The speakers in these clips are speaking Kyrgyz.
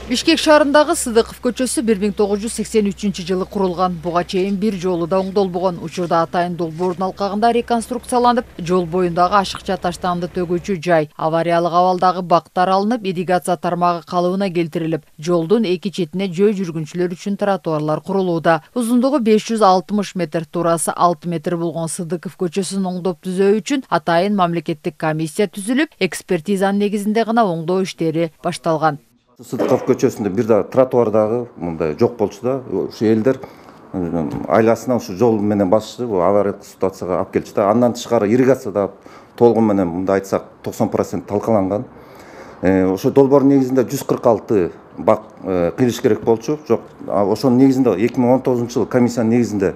Бишкек шаарындагы Сыдыков көчөсү 1983-жылы курулган. Буга чейин бир жолу да оңдолбогон. Учурда атайын долбоордун алкагында реконструкцияланып, жол боюндагы ашыкча таштанды төгүүчү жай, авариялык абалдагы бактар алынып, ирригация тармагы калыбына келтирилип, жолдун эки четине жөө жүргүнчүлөр үчүн тротуарлар курулууда. Узундугу 560 метр, туурасы 6 метр болгон Сыдыков көчөсүн оңдоп түзөө үчүн атайын мамлекеттик комиссия түзүлүп, экспертизанын негизинде гана оңдоо иштери башталган. Сыдыков көчөсүндө бир да тротуардагы мындай жок болчу да, ушу элдер айласына ушу жол менен басышты, авариялык ситуацияга алып келчү да. Андан тышкары ирригация да толугу менен мындай айтсак 90% талкаланган. Ошо долбоордун негизинде 146 бак кыйлыш керек болчу. Жок, ошонун негизинде 2019-жылы комиссиянын негизинде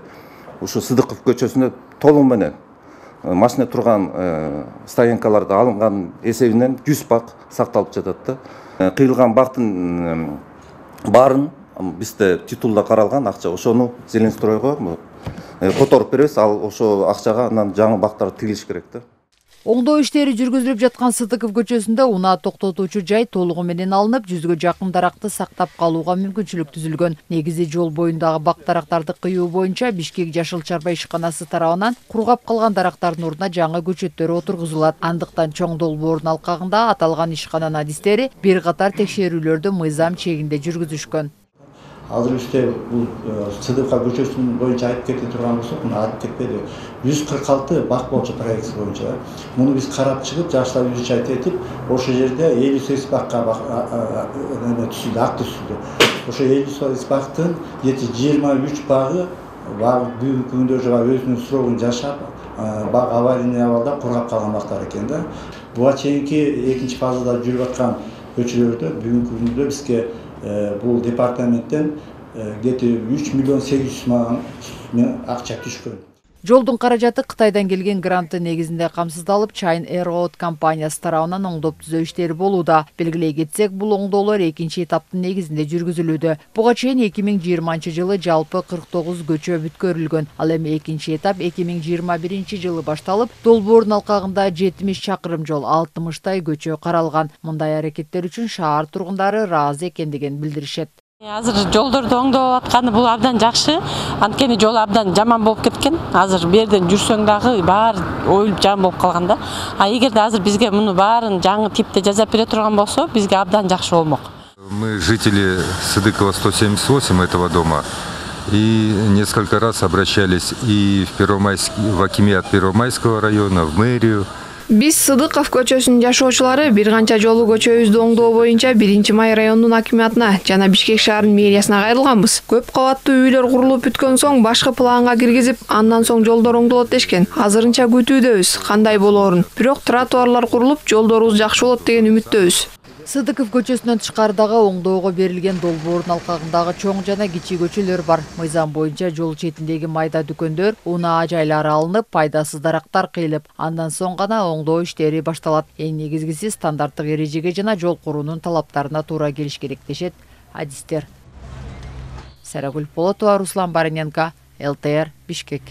ушу Сыдыков көчөсүндө толугу менен машина турган стоянкаларды алынган эсебинен 100 бак сакталып жатат да. Кыйылган бактын баарын бизде титулда каралган акча, ошону Зеленстройго которуп беребиз. Ал ошо акчага анан жаңы бактар тигилиш керек да. Оңдоо иштери жүргүзүлүп жаткан Сыдыков көчөсүндө унаа токтотуучу жай толугу менен алынып, 100гө жакын даракты сактап калууга мүмкүнчүлүк түзүлгөн. Негизи жол боюндагы бак дарактарды кыюу боюнча Бишкек Жашыл Чарба ишканасы тарабынан кургап калган дарактардын ордуна жаңы көчөттөр отургузулат. Андыктан чоң долбоордун алкагында аталган ишкананын адистери бир катар текшерүүлөрдү мыйзам чегинде жүргүзүшкөн. Азыр бизде бул Сыдыков көчөсүнүн боюнча айтып кете турган болсок, муну айтып кетпеди. 146 бак болчу проект боюнча. Муну биз карап чыгып, жаштар изучать этип, ошол жерде 58 бакка түзүлдү, акт түзүлдү. Ошо 58 бактын 23 багы бүгүнкү күндө өзүнүн срогун жашап, бак аварийный абалда кургап калган бактар экен да. Буга чейинки экинчи фазада жүрүп аткан көчөлөрдө бүгүнкү күндө бизге бул департаменттен где-то 3 миллион 800 миң акча түшкөн. Жолдун каражаты Кытайдан келген гранты негизинде камсыздалып, China Air Road компаниясы тарабынан оңдоп түзөө иштери болууда. Белгилей кетсек, бул оңдоолор экинчи этаптын негизинде жүргүзүлүүдө. Буга чейин 2020-жылы жалпы 49 көчө бүткөрүлгөн. Ал эми экинчи этап 2021-жылы башталып, долбоордун алкагында 70 чакырым жол, 60 көчө каралган. Мындай аракеттер үчүн шаар тургундары ыраазы экендигин билдиришет. Азыр жолдорду оңдоп атканы бул абдан жакшы. Анткени жол абдан жаман болуп кеткен. Азыр берден жүрсөң дагы баары оюлуп жаман болуп калган да. Эгерде азыр бизге муну баарын жаңы типте жасап бере турган болсо, бизге абдан жакшы болмок. Мы жители Сыдыкова 178 этого дома и несколько раз обращались и в акимиат Первомайского района, в мэрию. Биз Сыдыков көчөсүнүн жашоочулары бир канча жолу көчөбүздү оңдоо боюнча 1-май районунун акимиатына жана Бишкек шаарынын мэриясына кайрылганбыз. Көп кабаттуу үйлөр курулуп бүткөн соң башкы планга киргизип, андан соң жолдор оңдолот дешкен. Азырынча күтүүдөбүз, кандай болоорун. Бирок тротуарлар курулуп, жолдорубуз жакшы болот деген үмүттөбүз. Сыдыков көчөсүнөн тышкарыдагы оңдоого берилген долбоордун алкагындагы чоң жана кичи көчөлөр бар. Мыйзам боюнча жол четиндеги майда дүкөндөр, унаа жайлары алынып, пайдасыз дарактар кыйылып, андан соң гана оңдоо иштери башталат. Эң негизгиси стандарттык эрежеге жана жол куруунун талаптарына туура келиш керек дешет адистер. Сарагүл Полотова, Руслан Бариненко, ЛТР, Бишкек.